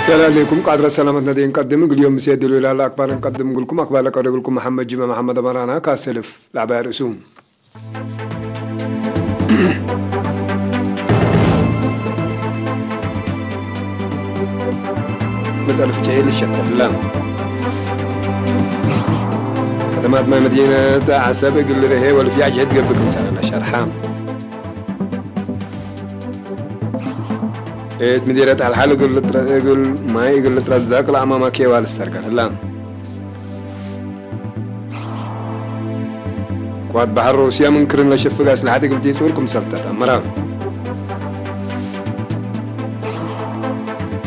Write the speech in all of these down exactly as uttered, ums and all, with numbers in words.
ሰላም ዐለይኩም። ቃድረ ሰላመትነ ዴ እንቀድም፣ እግል ዮም ምሴ ድሉ ይላለ አክባር እንቀድም እግልኩም። አክባር ለቀርብ እግልኩም መሐመድ ጅመ መሐመድ አመራና ካሰልፍ ለዐባይ ርእሱ። መጠን ፍጨ ልሸተለ። ከተማት ማይ መዲነት ዐሰብ እግል ርሄ ወልፍያ ጅህድ ገብእ ክምሰለ ለሸርሐ። እት ምዲረት ሐልሐል እግል ልትረ-፣ እግል ማይ እግል ልትረዘቅ ለአማማ ኬዋ ልሰርገል ህላ። ቅዋት በሐር ሩስያ ምን ክርን ለሸፍግ አስለሐት እግል ቲጹር ክምሰል ተአመረ።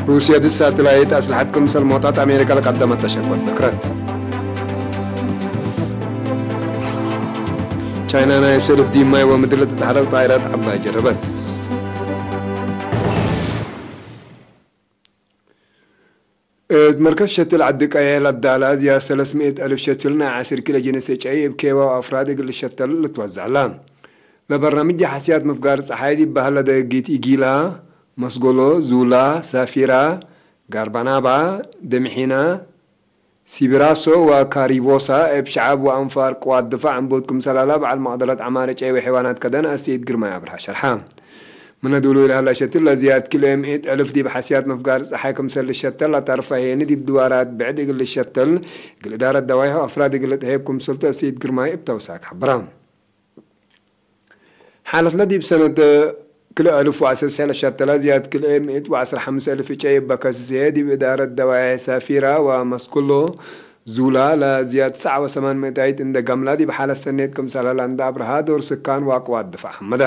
ሩስያ ድስ ሳትላይት አስለሐት ክምሰል ሞጣት አሜሪካ ለቀደመት ተሸክወት ነክረት። ቻይና ናይ ሰልፍ ዲብ ማይ ወምድር ለትትሐረቅ ጣይራት ዐባይ ጀረበት። እት መርከዝ ሸትል ዐዲ ቀየ ለዳላ ዝያድ ሰለስ ምእት አልፍ ሸትል ናይ ዐስር ኪሎ ጅንስ እጨይ እብ ኬዋ ወአፍራድ እግል ልሸተል ልትወዘዕ ላ። ለበርናምጅ ሐስያት ምፍጋር ጸሓይ ዲብ በህለ ደጊት ኢጊላ፣ መስጎሎ፣ ዙላ፣ ሳፊራ፣ ጋርባናባ፣ ደምሒና፣ ሲብራሶ ወካሪቦሳ እብ ሸዐብ ወአንፋር ቅዋት ድፋዕ ዕንቡት ክምሰላላ በዐል መቅደረት ዐማር እጨይ ወሐይዋናት ከደን አሰይድ ግርማይ አብርሃ ሸርሐ። ምነ ዱሉይ ለሀላ ሸትል ለዝያድ ክልኤ ምእት አልፍ ዲብ ሐስያት ምፍጋር ጸሓይ ክምሰል ልሸተል ለተርፈ ሄኒ ዲብ ድዋራት ብዕድ እግል ልሸተል እግል እዳረት ደዋይሕ ወአፍራድ እግል ልትሀየብ ክምሰልቱ አሰይድ ግርማይ እብ ተውሳክ ሐብራ። ሓለትለ ዲብ ሰነት ክልኤ አልፍ ወዐስር ሰዕ ለሸተለ ዝያድ ክልኤ ምእት ወዐስር ሐምስ አልፍ እጨይ እበ ከስስየ ዲብ እዳረት ደዋይሕ ሳፊራ ወመስኩሎ ዙላ ለዝያድ ትስዐ ወሰማን ምእታይት እንደ ገምላ ዲብ ሓለት ሰኔት ክምሰለ ለእንደ አብርሃ ዶር ስካን ወአቅዋት ድፋዕ ሐመደ።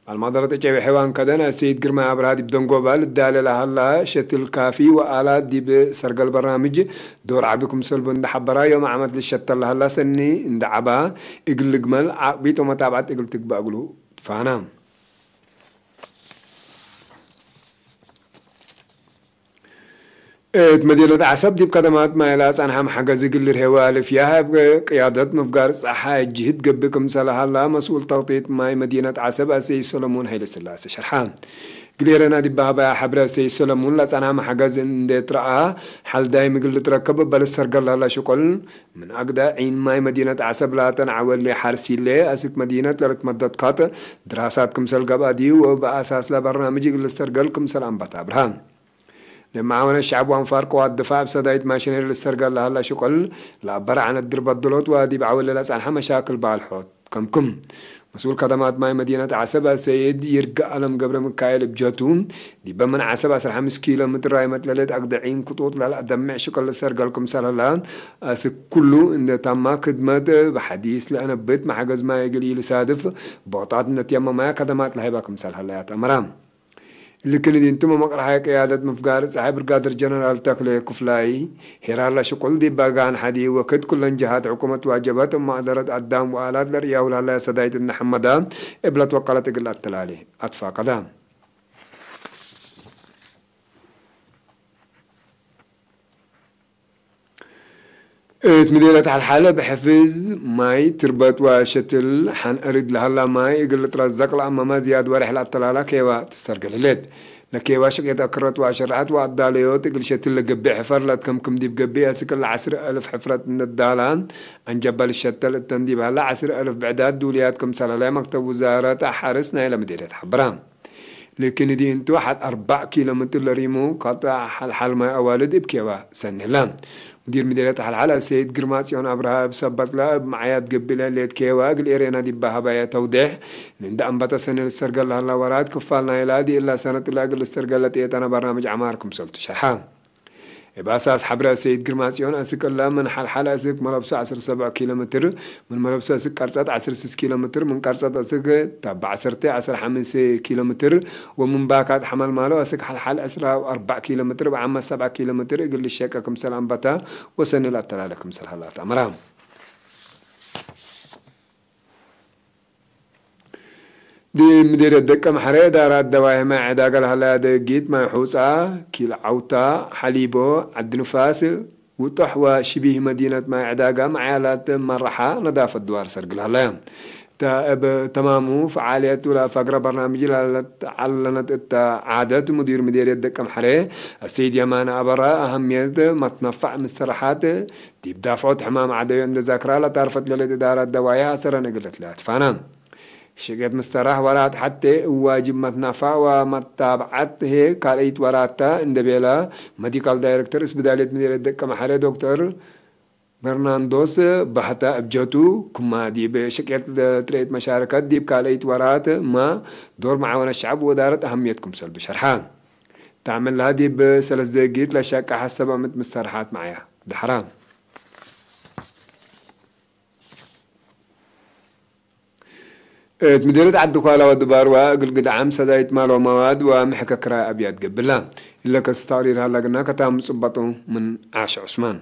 ባልማደረት እጨይ ወሐይዋን ከደን አሰይድ ግርማይ አብርሃ ዲብ ደንጎባ ልዳለ ለሀላ ሸትል ካፊ ወአላት ዲብ ሰርገል በርናምጅ ዶር ዐቢ ክምሰልቡ እንደ ሐበራ ዮም ዓመት ልሸተል ለሀላ ሰኒ እንደ ዐባ እግል ልግመል ዓቅቢት ወመታብዐት እግል ትግበእ እግሉ ትፋና። እት መዲነት ዐሰብ ዲብ ከደማት ማይ ለአጸንሐም ሐገዝ እግል ልርሄ ወአልፍያህ እብ ቅያደት ምፍጋር ጸሓይ ጅህድ ገብእ ክምሰለ ሀላ መስኡል ተክጢጥ ማይ መዲነት ዐሰብ አሰይድ ሰለሙን ሀይለስላሴ ሸርሐ። እግል ኤረና ዲብ ሀበያ ሐብረ አሰይድ ሰለሙን ለአጸንሐም ሐገዝ እንዴ ትረአ ሐል ዳይም እግል ልትረከብ እበ ልሰርገል ለሀላ ሽቁል ምን አግደ ዒን ማይ መዲነት ዐሰብ ላተን ዐወሌ ሐርሲሌ አስክ መዲነት ለልትመደድ ካጥ ድራሳት ክምሰል ገብአ ዲብ ወእብ አሳስ ለበርናምጅ እግል ልሰርገል ክምሰል አንበተ አብርሃ። ለመዓወነት ሸዐብ ወአንፋር ቅዋት ድፋዕ እብ ሰዳይት ማሽነሪ ልሰርገል ለሀላ ሽቁል ለአበረ ዐነት ድርበት ድሎት ወዲብ ዐወሌ ለጸንሐ መሻክል ባልሖት ከምክም። መስኡል ከደማት ማይ መዲነት ዐሰብ አሰይድ ይርጋ አለም ገብረ ሚካኤል እብ ጀቱ፣ ዲበ ምን ዐሰብ ዐስር ሐምስ ኪሎ ምትር ራይመት ለሌት አግደ ዒን ክጡጥ ለለአደምዕ ሽቅል ልሰርገል ክምሰል ሀላ፣ አስክ ኩሉ እንደ ታማ ክድመት በሐዲስ ለአነብት መሐገዝ ማይ እግል ኢልሳድፍ ቦጣት እንደ ትየመማያ ከደማት ለሀይባ ክምሰል ሀላ ያተአመራ። እሊ ክኒ ዲንቱ መመቅረሓይ ቅያደት ምፍጋር ጸሓይ ብርጋደር ጀነራል ተክሌ ክፍላይ፣ ሄራር ለሽቁል ዲብ በጋን ሐዲ ወክድ ኩለን ጀሃት ሕኩመት ዋጀበት እብ መቅደረት አዳም ወአላት ለርእያሁ ለሀለየ ሰዳይት እንደ ሐመዳ እብ ለትወቀለት እግል አተላሌ አትፋቀደ። እት ምዴነት ሐልሐለ እብ ሕፍዝ ማይ ትርበት ወሸትል ሐን እሪድ ለሀላ ማይ እግል ልትረዘቅ ለአመመ ዝያድ ወሬሕ ለአተላላ ኬዋ ትሰርገል ህሌት። ለኬዋ ሽቅየት አክረት ወአሸረሐት ወአዳለዮት እግል ሸትል ለገብእ ሕፈር ለትከምክም ዲብ ገብእ አስክ ለዐስር አልፍ ሕፍረት እንዳላ አንጀበ ልሸተል እተን ዲብ ሀላ ዐስር አልፍ ብዕዳት ዱልያት ክምሰል ሀለ መክተብ ውዛረት ሐርስ ናይለ ምዴነት ሐበረ። ላኪን እዲ እንቱ ሐድ አርበዕ ኪሎ ምትር ለሪሙ ቀጥዕ ሐልሐል ማይ አዋልድ እብ ኬዋ ሰኒ ህለ። ሙዲር ምዴርየት ሐልሐል አሰይድ ግርማጽዮን አብርሃ እብ ሰበትለ እብ መዓያት ገብእ ለህሌት ኬዋ እግል ኤሬና ዲብ ሀበየ ተውዴሕ፣ ምን እንደ አንበተ ሰኒ ልሰርገል ለሀላ ወራት ክፋል ናይላ ዲእላ ሰነት ለእግል ልሰርገል ለጥየጠነ በርናምጅ ዐማር ክምሰልቱ ሸርሐ። እብ አሳስ ሐብረ ሰይድ ግርማጽዮን አስክ እለ ምን ሐልሐል አስክ መለብሶ ዐስር ሰብዕ ኪሎ ምትር፣ ምን መለብሶ አስክ ቀርጸት ዐስር ስስ ኪሎ ምትር፣ ምን ቀርጸት አስክ ታብ ዐሰርተ ዐስር ሐምስ ኪሎ ምትር፣ ወምን ባካት ሐመልማሎ አስክ ሐልሐል ዕስራ ወአርበዕ ኪሎ ምትር፣ እብ ዓመት ሰብዓ ኪሎ ምትር እግል ልሸቀ ክምሰል አንበተ ወሰኒ ለአተላለ ክምሰል ሀላ ተአምረ። ዲብ ምዴርየት ደቀምሐሬ እዳራት ደዋዬሕ ማይ ዕዳጋ ለሀለያ ደጊት ማይ ሑጻ፣ ኪል ዐውታ፣ ሐሊቦ፣ ዐዲ ንፋስ፣ ውጦሕ ወሽቢህ መዲነት ማይ ዕዳጋ መዓያላት መረሓ ነዳፈት ድዋር ሰርግል ሀለ። እተ እብ ተማሙ ፈዓልየት ለፈግረ በርናምጅ ለዐለት ዐለነት እተ ዓደት፣ ሙዲር ምዴርየት ደቀምሐሬ አሰይድ የማነ አበራ፣ አሀምየት መትነፋዕ ምሰረሓት ዲብ ዳፍዖት ሕማም ዐደዮ እንዴ ዛክራ፣ ለታርፈት ለህሌት እዳራት ደዋዬሕ አሰረን እግል ልትለአትፋና። ሽቄት ምሰራሕ ወራት ሐቴ እብ ዋጅብ መትናፋዕ ወመታብዐት ህዬ ካልአይት ወራት ተ፣ እንዴ ቤለ መዲካል ዳይሬክተር እስብዳልየት ምዴርየት ደቀምሐሬ ዶክተር በርናንዶስ በህተ እብ ጀቱ፣ ክማ ዲብ ሽቄት ትርኤት መሻረከት ዲብ ካልአይት ወራት መ ዶር መዓወነት ሸዐብ ወእዳረት አሀምየት ክምሰል ብሸርሐ። ተዕመል ለሀ ዲብ ሰለስ ደጊት ለሸቀሐ ሰብዕ ምእት ምሰረሓት መዓያ ደሐራ። እት ምዴርየት ዐዲ ኳላ ወድባርዋ እግል ግድዓም ሰዳይት ማል ወመዋድ ወምሕከ ክራይ አብያት ገብላ። እለ ከስ ተቅሪር ሀላ ግና ከታም ጽበጡ ምን ዓሽ ዑስማን።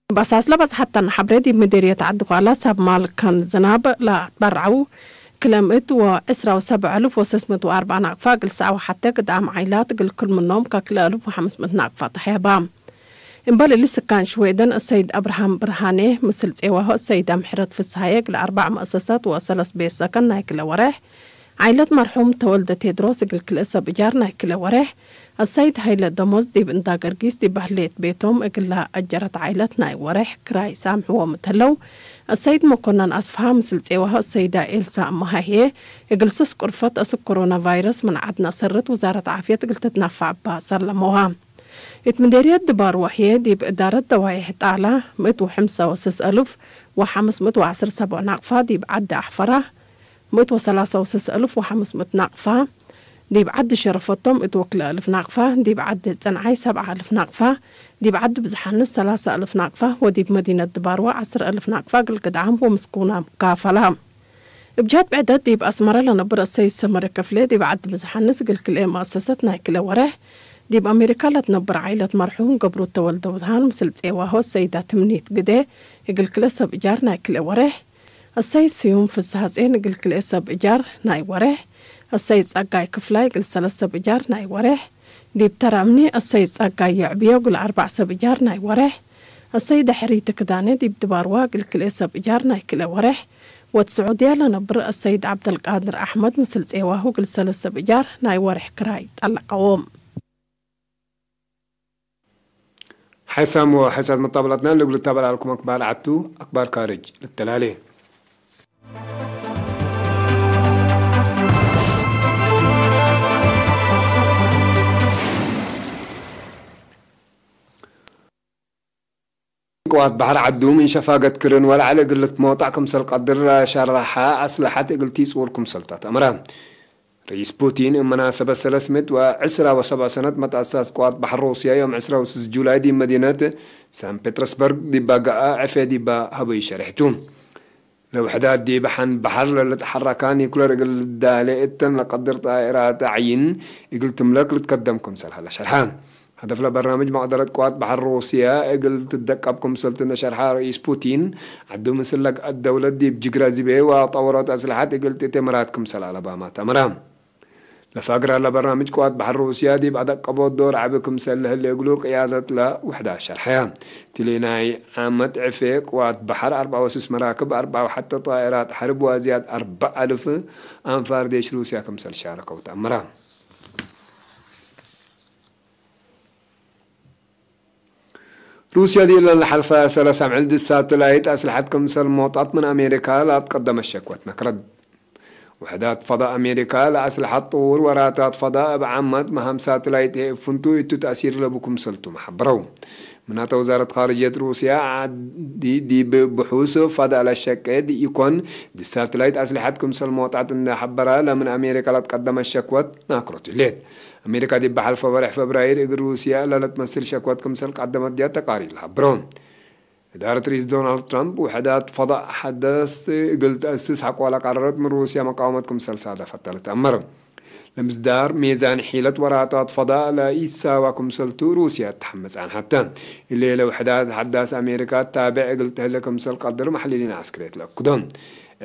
እብ አሳስ ለበጽሐተነ ሐብሬ፣ ዲብ ምዴርየት ዐዲ ኳላ ሰብ ማል ከን ዝናብ ለአትበርዐው ክለ ምእት ወዕስራ ወሰብዕ አልፍ ወሰስ ምእት ወአርበዕ ናቅፋ እግል ሰዐ ወሐቴ ግድዓም ዓይላት እግል ክል ምኖም ከክልኤ አልፍ ወሐምስ ምእት ናቅፋ ተሐየባ። እምበል እሊ፣ ስካን ሽዌደን አሰይድ አብርሃም ብርሃኔ፣ ምስል ጼዋሁ አሰይድ አምሕረት ፍስሃዬ፣ እግል አርበዕ መአሰሳት ወሰለስ ቤት ሰከን ናይ ክለ ወሬሕ፣ ዓይለት መርሑም ተወልደ ቴድሮስ እግል ክልኤ ሰብ እጃር ናይ ክለ ወሬሕ፣ አሰይድ ሀይለ ደሞዝ ዲብ እንዳ ገርጊስ ዲብ በህሌት ቤቶም እግል ለአጀረት ዓይለት ናይ ወሬሕ ክራይ ሳምሕዎም እት ህለው፣ አሰይድ መኮነን አስፍሃ ምስል ጼዋሁ አሰይዳ ኤልሳ እመሃ ህዬ፣ እግል ስስ ቁርፈት አስክ ኮሮና ቫይረስ ምን ዐድነ አሰርት ውዛረት ዓፍየት እግል ትትናፋዕ እባ ሰለመዋ። እት ምዴርየት ድባርዋ ህዬ፣ ዲብ እዳረት ደዋዬሕ ጣላ፣ ምእት ወሐምሳ ወስስ አልፍ ወሐምስ ምእት ወዐስር ሰብዕ ናቅፋ፣ ዲብ ዐዲ አሕፈራ፣ ምእት ወሰላሳ ወስስ አልፍ ወሐምስ ምእት ናቅፋ፣ ዲብ ዐዲ ሸረፈቶም እት ወክልኤ አልፍ ናቅፋ፣ ዲብ ዐዲ ጽንዓይ ሰብዓ አልፍ ናቅፋ፣ ዲብ ዐዲ ብዝሓንስ ሰላሳ አልፍ ናቅፋ፣ ወዲብ መዲነት ድባርዋ ዐስር አልፍ ናቅፋ እግል ግድዓም ወምስኩናም ካፈላ። እብ ጀህት ብዕደት፣ ዲብ አስመረ ለነብር አሰይድ ሰመረ ከፍሌ፣ ዲብ ዐዲ ብዝሓንስ እግል ክልኤ መአሰሰት ናይ ክልኤ ወሬሕ፣ ዲብ አሜሪካ ለትነብር ዓይለት መርሑም ገብሩ ተወልደ ውድሃን ምስል ጼዋሁ አሰይዳ ትምኒት ግዴ እግል ክልኤ ሰብ እጃር ናይ ክልኤ ወሬሕ፣ አሰይድ ስዩም ፍስሐጼን እግል ክልኤ ሰብ እጃር ናይ ወሬሕ፣ አሰይድ ጸጋይ ክፍላይ እግል ሰለስ ሰብ እጃር ናይ ወሬሕ፣ ዲብ ተረምኒ አሰይድ ጸጋይ የዕብዮ እግል አርበዕ ሰብ እጃር ናይ ወሬሕ፣ አሰይድ ሕሪት ክዳኔ ዲብ ድባርዋ እግል ክልኤ ሰብ እጃር ናይ ክልኤ ወሬሕ፣ ወእት ስዑድያ ለነብር አሰይድ ዐብደልቃድር አሕመድ ምስል ጼዋሁ እግል ሰለስ ሰብ እጃር ናይ ወሬሕ ክራይ ጠለቀዎም። ሐይሳም ወሐይሳት መጣበላትና ለእግል ልታበል አልኩም አክባር ዐቱ፣ አክባር ካርጅ ልተላሌ። ቅዋት በሐር ዐዱ ምን ሸፋገት ክርን ወለዐል እግል ልትሞጣዕ ክምሰል ቀድር ለሸረሐ አስለሐት እግል ቲጽውር ክምሰል ተአምረ። ርኢስ ፑቲን እብ መናሰበት ሰለስ ምእት ወዕስራ ወሰብዕ ሰነት መትአሳስ ቅዋት በሐር ሩስያ ዮም ዕስራ ወስስ ጁላይ ዲብ መዲነት ሳን ፔትረስበርግ ዲባ ገአ ዕፌ ዲባ ሀበዩ ሸሬሕ ቱ። ለውሕዳት ዲብ ሐን በሐር ለልትሐረካ ኒኩለር እግል ልዳሌ እተን ለቀድር ጣኢራት ዐይን እግል ትምለክ ልትከደም ክምሰል ሀለ ሸርሐ። ሀደፍ ለበርናምጅ መቅደረት ቅዋት በሐር ሩስያ እግል ትደቀብ ክምሰል ትነ ሸርሐ ርኢስ ፑቲን፣ ዐዱ ምስል ለገአት ደውለት ዲብ ጅግረ ዝቤ ወጠወሮት አስለሐት እግል ትእቴ ምራት ክምሰል አለባማት አምራ። ለፋግር ሀለ በርናምጅ ቅዋት በሐር ሩስያ ዲብ አደቀቦት ዶር ዐቢ ክምሰል ለህሌ እግሉ ቅያደት ለውሕዳት ሸርሐያ። እትሊ ናይ ዓመት ዕፌ ቅዋት በሐር አርበዕ ወስስ መራክብ፣ አርበዕ ወሐተ ጣኢራት ሐርብ ወዝያድ አርበዕ አልፍ አንፋር ዴሽ ሩስያ ክምሰል ሻረከው ተአምራ። ሩስያ ዲብ ለሐልፈ ሰለስ አምዕል ዲብ ሳትላይት አስለሐት ክምሰል ሞጣት ምን አሜሪካ ለአትቀደመት ሸክወት ነክረት። ውሕዳት ፈዳእ አሜሪካ ለአስለሐት ጥውር ወራታት ፈዳእ እብ ዓመት መሃም ሳትላይት ህዬ እብ ፍንቱይ እቱ ተእሲር ለቡ ክምሰልቱም ሐብረው። ምናተ ወዛረት ካርጅየት ሩስያ ዐዲ ዲብ ብሑስ ፈዳእ ለሸቄ ዲኢኮን፣ ዲብ ሳትላይት አስለሐት ክምሰል ሞጣት እንዴ ሐበረ፣ ለምን አሜሪካ ለአትቀደመት ሸክወት ናክሮት ህሌት። አሜሪካ ዲብ ሐልፈ ወሬሕ ፈብራይር እግል ሩስያ ለልትመስል ሸክወት ክምሰል ቀደመት ዲያ ተቃሪር ለሀብሮ። እዳረት ርኢስ ዶናልድ ትራምፕ ውሕዳት ፈዳእ ሐዳስ እግል ተአስስ ሐቆ ለቀረረት ምን ሩስያ መቃወመት ክምሰል ሳደፈተ ልትአመር። ለምስዳር ሜዛን ሒለት ወራታት ፈዳእ ለኢሳዋ ክምሰልቱ ሩስያ ተሐመጽ አንሐተ። እሌለ ውሕዳት ሐዳስ አሜሪካ ታቤዕ እግል ተህለ ክምሰል ቀድር መሕልሊን ዐስክርየት ለአክዶ።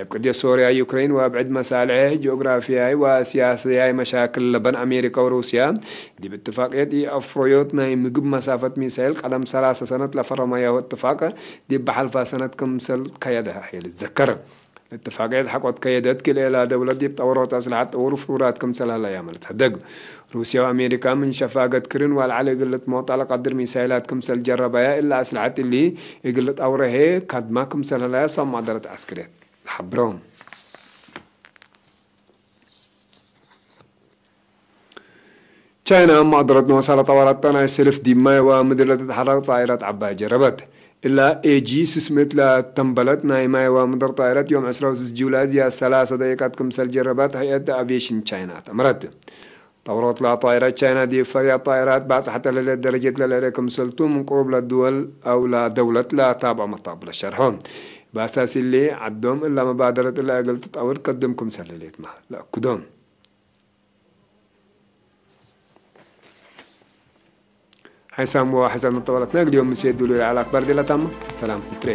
እብ ቅድየት ሶርያ፣ ዩክሬን ወእብ ዕድ መሳልሕ ጂኦግራፍያይ ወሲያስያይ መሻክል ለበን አሜሪካ ወሩስያ፣ ዲብ እትፋቅየት ኢአፍሮዮት ናይ ምግብ መሳፈት ሚሳይል ቀደም ሰላሰ ሰነት ለፈረመያሁ እትፋቅ፣ ዲብ በሐልፋ ሰነት ክምሰል ከየደ ህይ ልትዘከር። ለእትፋቅየት ሐቆት ከየደት፣ ክልኤላ ደውለት ዲብ ጠወሮት አስልሐት ጠውር ፍሩራት ክምሰል ሀለያ ለልትሐደግ። ሩስያ ወአሜሪካ ምን ሸፋገት ክርን ወአልዐል እግል ልትሞጣ ለቀድር ሚሳይላት ክምሰል ጀረባያ፣ እለ አስልሐት እሊ እግል ልጣውረ ህዬ ካድማ ክምሰል ሀለያ ሳም ማደረት ዐስክርየት ለሐብሮ። ቻይና ማደረት ኖሳ ለጠወረተ ናይ ስልፍ ዲብ ማይ ወምድር ለትትሐረቅ ጣይረት ዐባይ ጀረበት። እላ ኤጂ ስስምት ለተንበለት ናይ ማይ ወምድር ጣይረት ዮም ዕስራ ወስስ ጁላይ ዝያድ ሰላሰ ደቂቃት ክምሰል ጀረበት ህይአት አቪዬሽን ቻይና ተምረት። ጠውሮት ለጣይረት ቻይና ዲብ ፈርያት ጣይራት ባጽሐተ ለህሌት ደረጀት ለልዕለ ክምሰልቱ ምን ቅሩብ ለድወል አው ለደውለት ለታብዖ መታብለ ሸርሖ። በአሳስ እሊ ዐዶም እላ መባደረት እላ እግል ትጠውር ትቀድም ክምሰል ህሌትመ ለአክዶም። ሓይሳም ወሓይሳም መጠወለትነ እግል ዮም ምሴ ዱሉ ለዐለ አክባር ዲላ ታመ። ሰላም ትትሬ።